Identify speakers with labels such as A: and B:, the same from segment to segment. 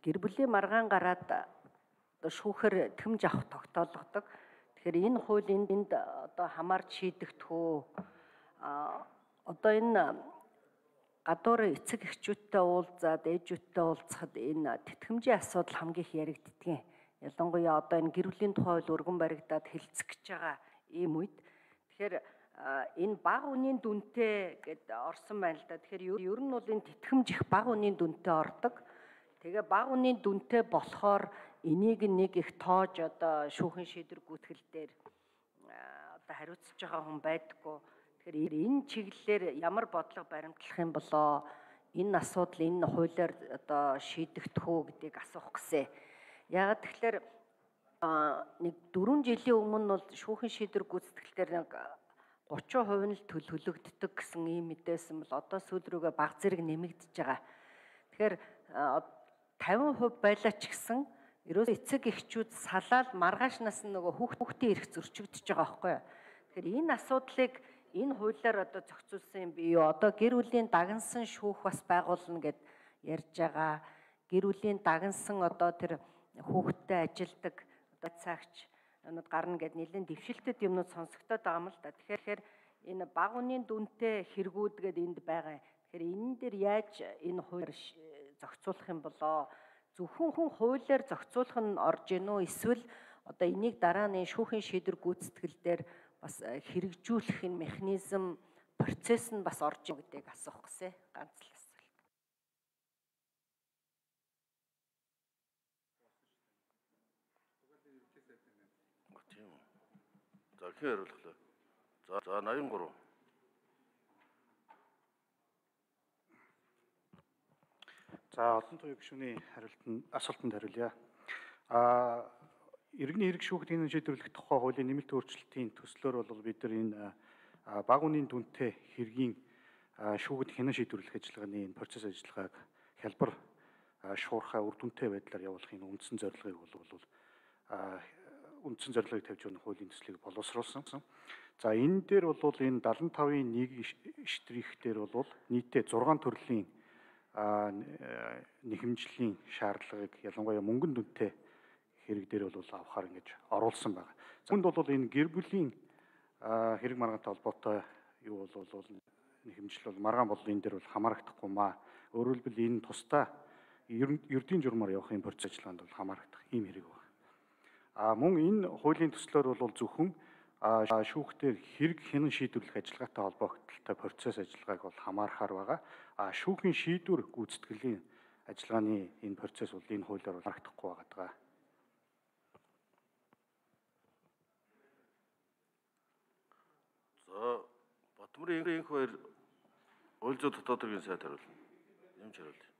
A: гэр бүлийн маргаан гараад одоо шүүхээр тэмж авах тогтоологдог. Тэгэхээр энэ хуулийн энд одоо хамаарч шийдэгдэх үү? Одоо энэ гадуур эцэг эхчүүдтэй уулзаад ээжүүдтэй уулзахад энэ тэтгэмжийн асуудал хамгийн их яригддаг. Ялангуяа одоо энэ гэр бүлийн тухай хууль өргөн баригдаад хэлцэх гэж байгаа ийм үед. Тэгэхээр энэ бага үнийн дүнтэй гэд орсон байна л да. Тэгэхээр ер нь бол энэ тэтгэмж их бага үнийн дүнтэй ордог. Тэгээ бага үнийн дүнтэй болохоор энийг нэг их тоож одоо шүүхийн шийдвэр гүйтгэл дээр одоо хариуцж байгаа хүн байдаггүй. Тэгэхээр энэ чиглэлээр ямар бодлого баримтлах юм болоо энэ асуудал энэ хуулиар одоо шийдэгдэх үү гэдгийг асуух гэсэн. Яагаад тэгэхээр нэг 4 жилийн өмнө бол шүүхийн шийдвэр гүйцэтгэлээр нэг 30% нь л төлөгддөг гэсэн ийм мэдээсэн бол одоо сүүл рүүгээ баг зэрэг нэмэгдэж байгаа. Тэгэхээр 50% байлаа ч гэсэн ерөөсөө эцэг эхчүүд салаад маргааш нас нь нөгөө хүүхдийн эрх зөрчигдөж байгаа байхгүй юу. Тэгэхээр энэ асуудлыг энэ хуулиар одоо зохицуулсан юм бий юу? Одоо гэр бүлийн дагнсан шүүх бас байгуулна гэд ярьж байгаа. Гэр бүлийн дагнсан одоо тэр хүүхдтэй ажилдаг одоо цагч юмуд гарна гэд нэлээд дэвшилтэд юмнууд сонсогдоод байгаа юм л да. Тэгэхээр энэ бага үнийн дүнтэй хэрэгүүдгээд энд байгаа. Тэгэхээр энэ дээр яаж энэ хуулиар зохицуулах юм болоо? Зөвхөн хуулиар зохицуулах нь орж ийн үү? Эсвэл одоо энийг дараа нь шүүхийн шийдвэр гүйцэтгэл дээр бас хэрэгжүүлэх энэ механизм процесс нь бас орж ийн гэдгийг асуух гэсэн. Ганц л асуулт.
B: За хэн хариулах вэ? За 83.
C: За олон туяа гишүүний асуултанд хариулъя. Иргэний хэрэг шүүхтийн шийдвэрлэх тухай хуулийн нэмэлт өөрчлөлтийн төслөөр бол бид нар энэ бага үнийн дүнтэй хэргийн шүүхэд хянан шийдвэрлэх ажиллагааны энэ процесс ажиллагааг хялбар шуурхай үр дүнтэй байдлаар явуулахын үндсэн зорилгыг тавьж өгөх хуулийн төслийг боловсруулсан. За энэ дээр бол энэ 75-ын 1 штрих дээр бол нийтдээ 6 төрлийн нэхэмжлийн шаардлагыг ялангуяа мөнгөн дүнтэй хэрэг дээр бол авахар ингэж оруулсан байна. Үүнд бол энэ гэр бүлийн хэрэг маргаантай холбоотой юу бол нэхэмжил бол маргаан бол энэ дээр бол хамаарагдахгүй маа. Өөрөөр хэлбэл энэ тусдаа ердийн журмаар явахын процесс ажиллагаанд бол хамаарагдах ийм хэрэг байна. Мөн энэ хуулийн төслөөр бол зөвхөн шүүхтээр хэрэг хянан шийдвэрлэх ажиллагаатай холбоотой процесс ажиллагааг бол хамаарахаар байгаа. Шүүхийн шийдвэр гүйцэтгэлийн ажиллагааны энэ процесс бол энэ хуулиар бол харагдахгүй байгаа.
B: За Батмарын инх баяр уул зүйн дотоод хэргийн сайд хариулна. Юмч хариулъя.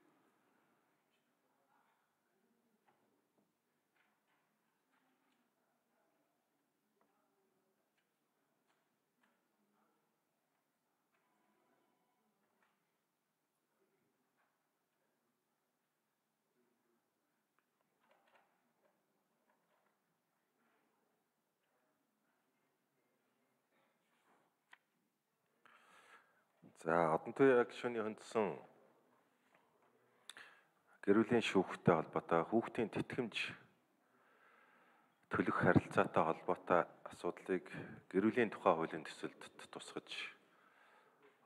D: За одон туяа гишүүний хөндсөн гэр бүлийн шүүхтэй холбоотой хүүхдийн тэтгэмж төлөх харилцаатай холбоотой асуудлыг гэр бүлийн тухай хуулийн төсөлд тусгаж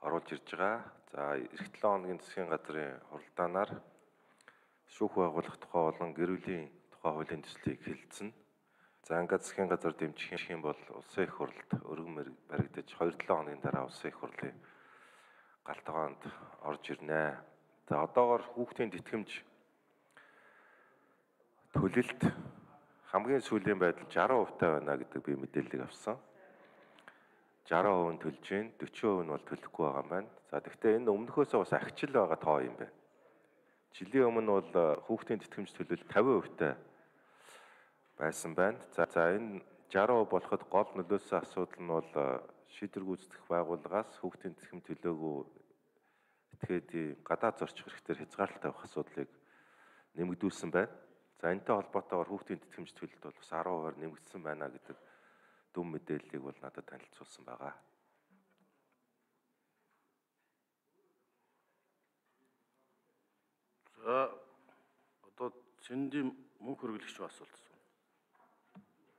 D: оруулж ирж байгаа. За эх 7 хоногийн засгийн газрын хуралдаанаар шүүх байгуулах тухай болон гэр бүлийн тухай хуулийн төслийг хэлэлцэнэ. За ингээд засгийн газар дэмжих юм бол улсын их хурлд өргөн баригдаж 2-7 хоногийн дараа улсын их хурлын галтгоонд орж ирнэ. За одоогоор хүүхдийн тэтгэмж төлөлт хамгийн сүүлийн байдал 60% байна гэдэг би мэдээллийг авсан. 60% нь төлж гин, 40% нь бол төлөхгүй байгаа юм байна. За гэхдээ энэ өмнөхөөсөө бас ахичил байгаа тоо юм байна. Жилийн өмнө бол хүүхдийн тэтгэмж төлөлт 50% байсан байна. За энэ 60% болоход гол нөлөөсөн асуудал нь бол шийдвэр гүйцэтгэх байгууллагаас хүүхдийн тэтгэмж төлөөгүй этгээдийн гадаад зорчих хэрэгтэй хязгаарлалт тавих асуудлыг нэмэгдүүлсэн байна. За энэтэй холбоотойгоор хүүхдийн тэтгэмж төлөлт бол бас 10%-аар нэмэгдсэн байна гэдэг дүн мэдээллийг бол надад танилцуулсан байгаа.
B: За одоо Цэндийн мөнх хөргөлөгч асуулт.